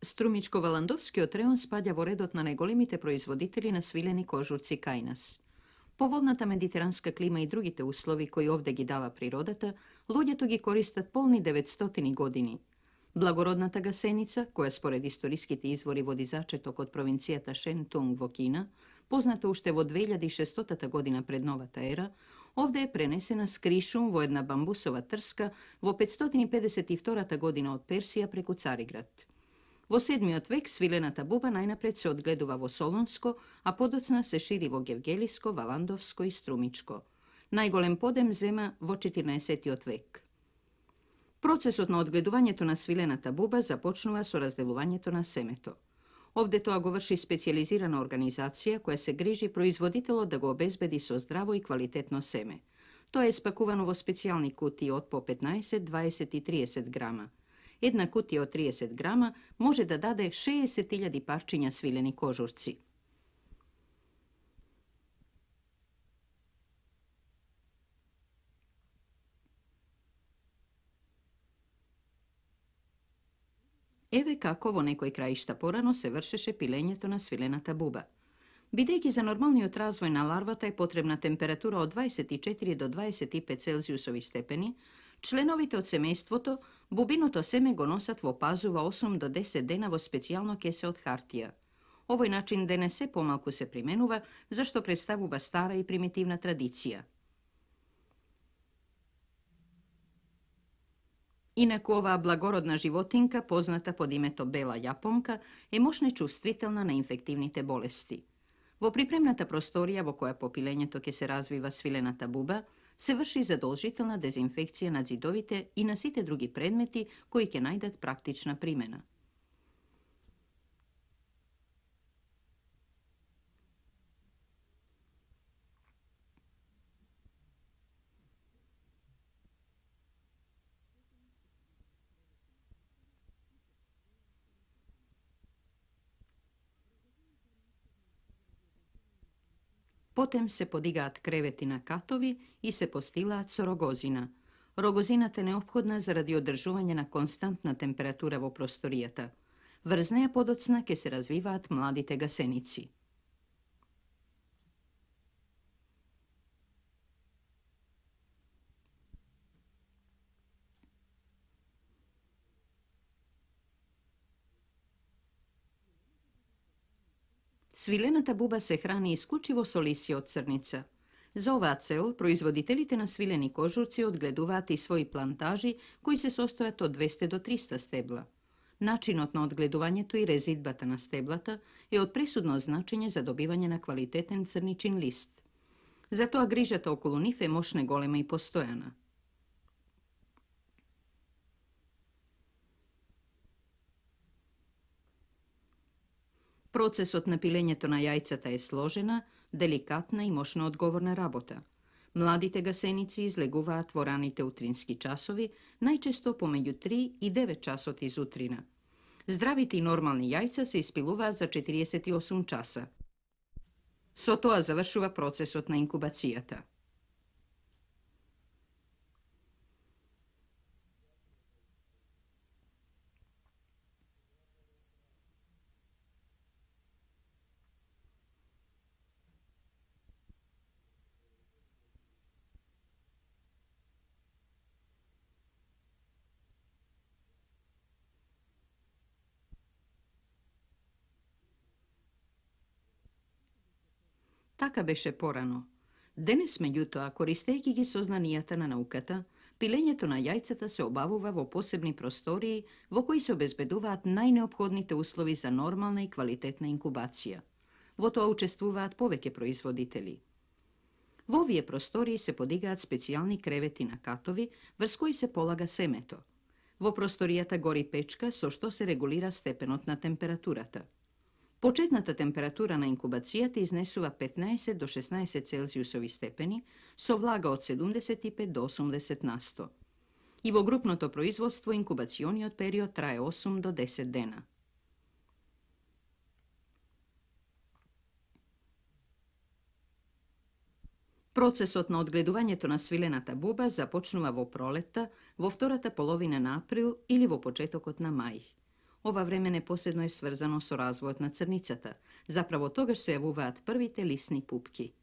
Струмичко-Валандовскиот реон спаѓа во редот на најголемите производители на свилени кожурци кај нас. Поволната медитеранска клима и другите услови кои овде ги дала природата, луѓето ги користат полни 900 години. Благородната гасеница, која според историските извори води зачеток од провинцијата Шентунг во Кина, позната уште во 2600 година пред новата ера, овде е пренесена с кришум во една бамбусова трска во 552 година од Персија преку Цариград. Во 7 век свилената буба најнапред се одгледува во Солунско, а подоцна се шири во Гевгелиско, Валандовско и Струмичко. Најголем подем зема во 14 век. Процесот на одгледувањето на свилената буба започнува со разделувањето на семето. Овде тоа го врши специјализирана организација која се грижи производителот да го обезбеди со здраво и квалитетно семе. Тоа е спакувано во специјални кутии од по 15, 20 и 30 грама. Една кутија од 30 грама може да даде 60.000 парчиња свилени кожурци. Еве како во некои краишта порано се вршеше пилењето на свилената буба. Бидејќи за нормалниот развој на ларвата е потребна температура од 24 до 25 целзиусови степени, членовите од семејството бубиното семе го носат во пазува 8 до 10 дена во специјално кесе од хартија. Овој начин денес се помалку се применува, зашто представува стара и примитивна традиција. Инаку оваа благородна животинка, позната под името бела јапонка, е мощно чувствителна на инфективните болести. Во припремната просторија во која по пилењето ќе се развива свилената буба, се врши задолжителна дезинфекција на ѕидовите и на сите други предмети кои ќе најдат практична примена. Потем се подигаат кревети на катови и се постилаат со рогозина. Рогозината е неопходна заради одржување на константна температура во просторијата. Врз неа подоцна ќе се развиваат младите гасеници. Свилената буба се храни исклучиво со лисје од црница. За оваа цел, производителите на свилени кожурци одгледуваат и своји плантажи кои се состојат од 200 до 300 стебла. Начинот на одгледувањето и резидбата на стеблата е од пресудно значење за добивање на квалитетен црничин лист. Затоа грижата околу нив е мощно голема и постојана. Процесот на пилењето на јајцата е сложена, деликатна и мощно одговорна работа. Младите гасеници излегуваат во раните утрински часови, најчесто помеѓу 3 и 9 часот изутрина. Здравите и нормални јајца се испилуваат за 48 часа. Со тоа завршува процесот на инкубацијата. Така беше порано. Денес, меѓутоа, користејќи ги сознанијата на науката, пилењето на јајцата се обавува во посебни простории во кои се обезбедуваат најнеопходните услови за нормална и квалитетна инкубација. Во тоа учествуваат повеќе производители. Во овие простории се подигаат специјални кревети на катови, врз кои се полага семето. Во просторијата гори печка со што се регулира степенот на температурата. Почетната температура на инкубацијата изнесува 15 до 16 целзиусови степени, со влага од 75 до 80 на 100. И во групното производство инкубациониот период трае 8 до 10 дена. Процесот на одгледувањето на свилената буба започнува во пролетта, во втората половина на април или во почетокот на мај. Ова време непоседно е сврзано со развојот на црницата. Заправо тогаш се јавуваат првите лисни пупки.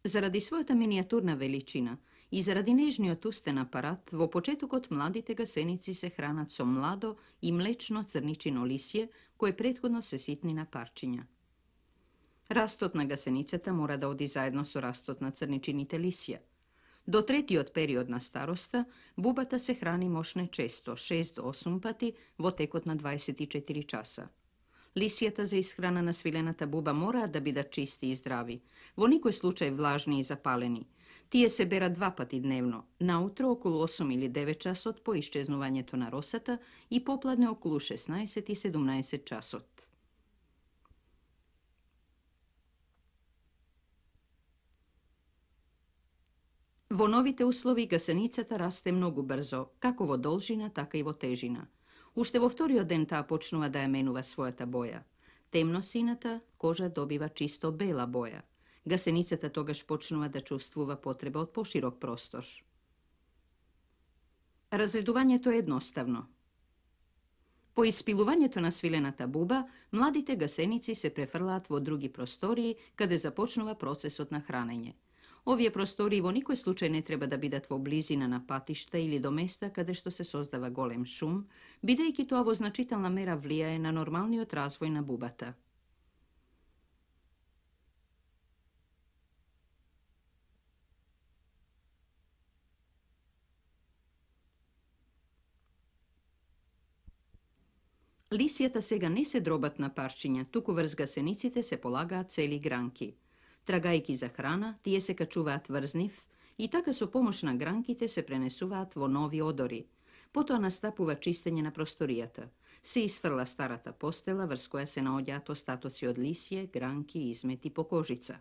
Заради својата минијатурна величина и заради нежниот устен апарат, во почетокот младите гасеници се хранат со младо и млечно црничино лисје, кое претходно се ситни на парчиња. Растот на гасеницата мора да оди заедно со растот на црничините лисја. До третиот период на староста, бубата се храни мошне често, 6 до 8 пати во текот на 24 часа. Лисијата за исхрана на свилената буба мораат да бидат чисти и здрави, во никој случај влажни и запалени. Тие се берат 2 пати дневно, наутро околу 8 или 9 часот по исчезнувањето на росата и попладне околу 16 и 17 часот. Во новите услови гасеницата расте многу брзо, како во должина, така и во тежина. Уште во вториот ден таа почнува да ја менува својата боја. Темносината кожа добива чисто бела боја. Гасеницата тогаш почнува да чувствува потреба од поширок простор. Разредувањето е едноставно. По испилувањето на свилената буба, младите гасеници се префрлаат во други простории, каде започнува процесот на хранење. Овие простории во никој случај не треба да бидат во близина на патишта или до места каде што се создава голем шум, бидејќи тоа во значителна мера влијае на нормалниот развој на бубата. Лисијата сега не се дробат на парчиња, туку врз гасениците се полагаат цели гранки. Трагајки за храна, тие се качуваат врз нив и така со помош на гранките се пренесуваат во нови одори. Потоа настапува чистење на просторијата. Се исфрла старата постела врз која се наоѓаат остатоци од лисје, гранки и измети по кожица.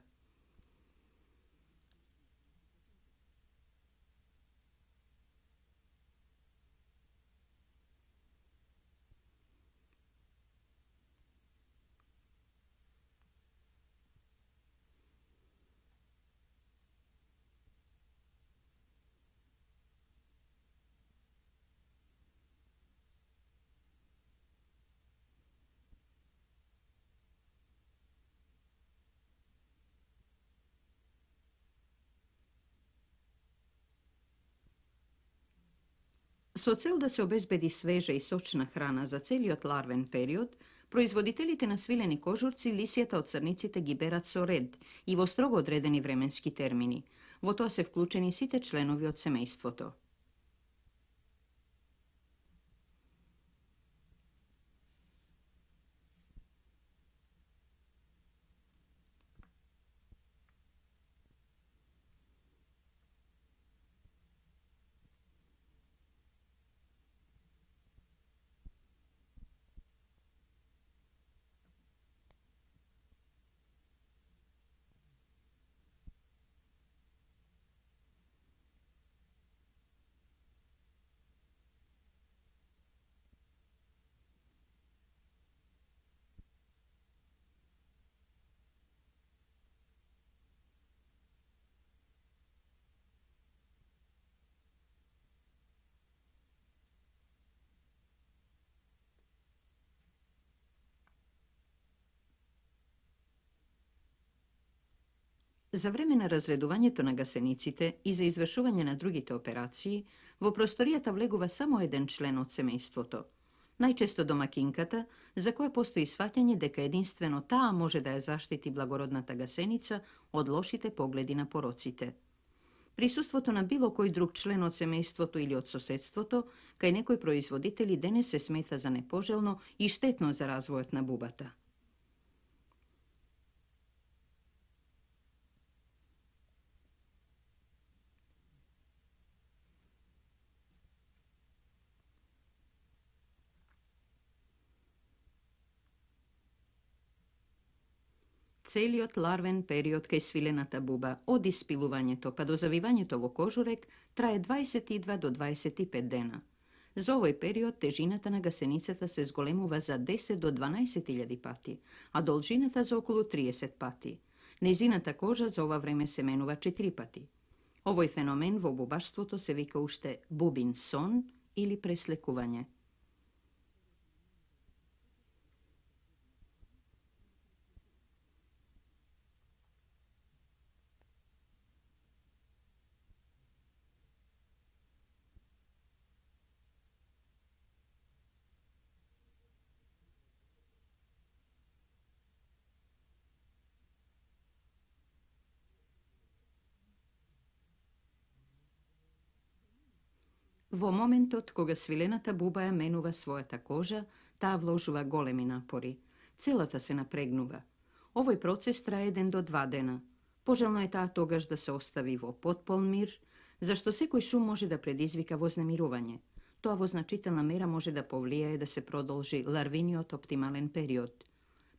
Со цел да се обезбеди свежа и сочна храна за целиот ларвен период, производителите на свилени кожурци лисијата од црниците ги берат со ред и во строго одредени временски термини. Во тоа се вклучени сите членови од семејството. За време на разредувањето на гасениците и за извршување на другите операции, во просторијата влегува само еден член од семејството. Најчесто домакинката, за која постои сваќање дека единствено таа може да ја заштити благородната гасеница од лошите погледи на пороците. Присуството на било кој друг член од семејството или од соседството, кај некои производители денес се смета за непожелно и штетно за развојот на бубата. Целиот ларвен период кај свилената буба, од испилувањето па до завивањето во кожурек, трае 22 до 25 дена. За овој период тежината на гасеницата се зголемува за 10 до 12.000 пати, а должината за околу 30 пати. Незината кожа за ова време се менува 4 пати. Овој феномен во бубарството се вика уште бубин сон или преслекување. Во моментот кога свилената буба ја менува својата кожа, таа вложува големи напори. Целата се напрегнува. Овој процес трае 1 до 2 дена. Пожелно е таа тогаш да се остави во потполн мир, зашто секој шум може да предизвика вознемирување. Тоа во значителна мера може да повлијае да се продолжи ларвиниот оптимален период.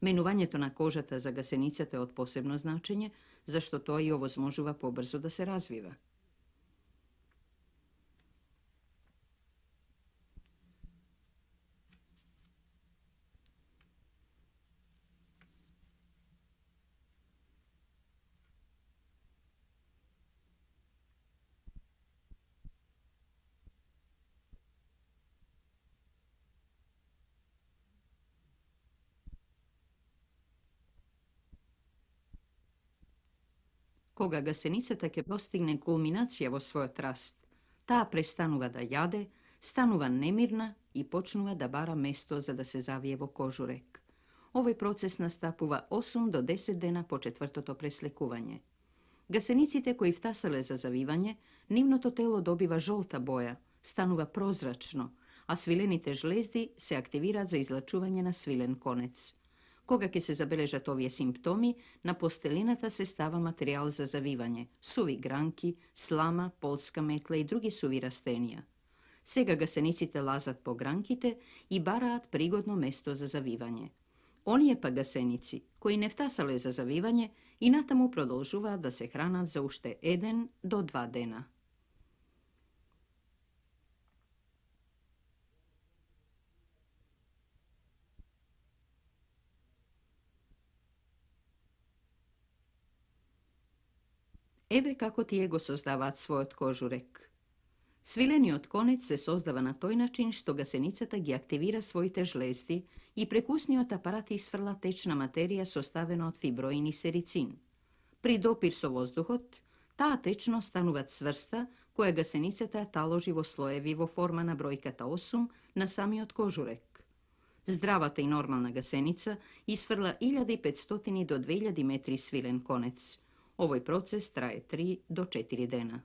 Менувањето на кожата за гасеницата е од посебно значење, зашто тоа ја овозможува побрзо да се развива. Кога гасеницата ќе постигне кулминација во својот раст, таа престанува да јаде, станува немирна и почнува да бара место за да се завие во кожурек. Овој процес настапува 8 до 10 дена по четвртото преслекување. Гасениците кои втасале за завивање, нивното тело добива жолта боја, станува прозрачно, а свилените жлезди се активираат за излачување на свилен конец. Кога ќе се забележат овие симптоми, на постелината се става материјал за завивање, суви гранки, слама, полска метла и други суви растенија. Сега гасениците лазат по гранките и бараат пригодно место за завивање. Оние па гасеници, кои не втасале за завивање, и натаму продолжуваат да се хранат за уште 1 до 2 дена. Еве како тие го создаваат својот кожурек. Свилениот конец се создава на тој начин што гасеницата ги активира своите жлезди и прекусниот апарат исфрла течна материја составена од фиброин и серицин. При допир со воздухот, таа течност станува цврста, која гасеницата ја таложи во слоеви во форма на бројката 8 на самиот кожурек. Здравата и нормална гасеница исфрла 1500 до 2000 метри свилен конец. Овој процес трае 3 до 4 дена.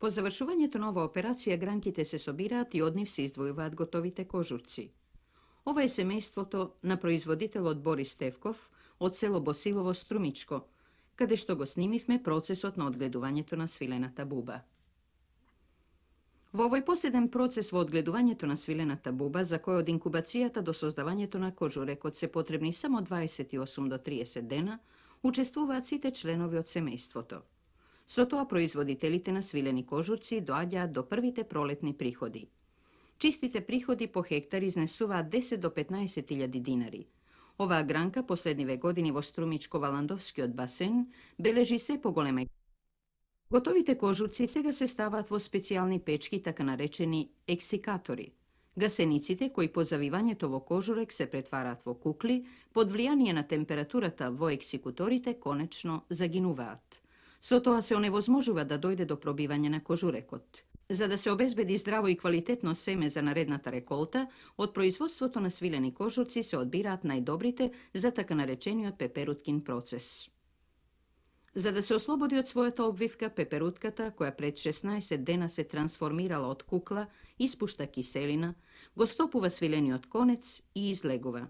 По завршувањето на оваа операција гранките се собираат и од нив се издвојуваат готовите кожурци. Ова е семејството на производителот Борис Стевков од село Босилово, Струмичко, каде што го снимивме процесот на одгледувањето на свилената буба. Во овој последен процес во одгледувањето на свилената буба, за кој од инкубацијата до создавањето на кожурекот се потребни само 28 до 30 дена, учествуваат сите членови од семејството. Со тоа производителите на свилени кожурци доаѓаат до првите пролетни приходи. Чистите приходи по хектар изнесуваат 10 до 15.000 динари. Оваа гранка последниве години во Струмичко-Валандовскиот басен бележи се поголема. Готовите кожурци сега се ставаат во специјални печки, така наречени ексикатори. Гасениците, кои по завивањето во кожурек се претвараат во кукли, под влијание на температурата во ексикуторите, конечно загинуваат. Со тоа се оневозможува да дојде до пробивање на кожурекот. За да се обезбеди здраво и квалитетно семе за наредната реколта, од производството на свилени кожурци се одбираат најдобрите за така наречениот пеперуткин процес. За да се ослободи од својата обвивка, пеперутката, која пред 16 дена се трансформирала од кукла, испушта киселина, го стопува свилениот конец и излегува.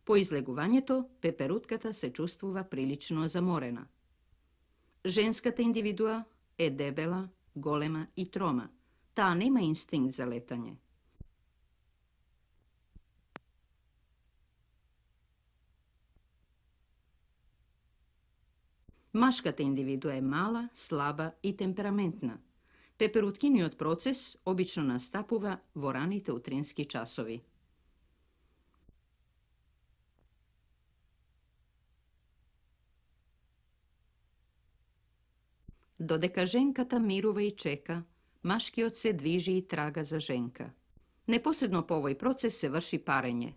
По излегувањето, пеперутката се чувствува прилично заморена. Женската индивидуа е дебела, голема и трома. Таа нема инстинкт за летање. Машката индивидуа е мала, слаба и темпераментна. Пеперуткиниот процес обично настапува во раните утрински часови. Додека женката мирува и чека, машкиот се движи и трага за женка. Непосредно по овој процес се врши парење.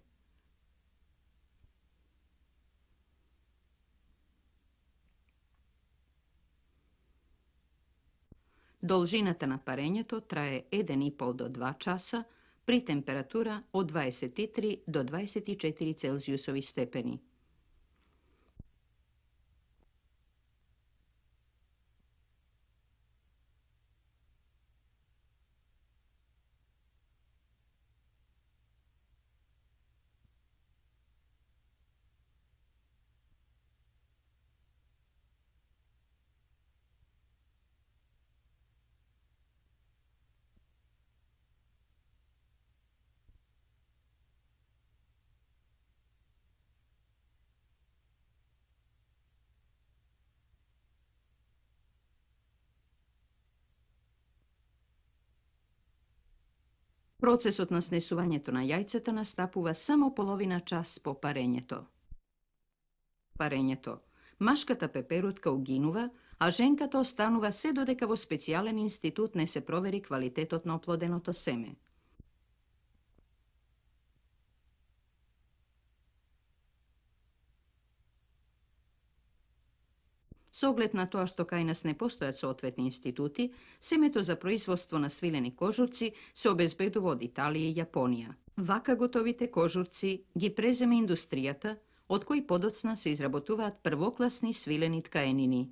Должината на парењето трае 1,5 до 2 часа при температура од 23 до 24 Целзиусови степени. Процесот на снесувањето на јајцата настапува само половина час по парењето. Машката пеперутка угинува, а женката останува се додека во специјален институт не се провери квалитетот на оплоденото семе. Со оглед на тоа што кај нас не постојат соодветни институти, семето за производство на свилени кожурци се обезбедува од Италија и Јапонија. Вака готовите кожурци ги преземе индустријата, од кои подоцна се изработуваат првокласни свилени ткаенини.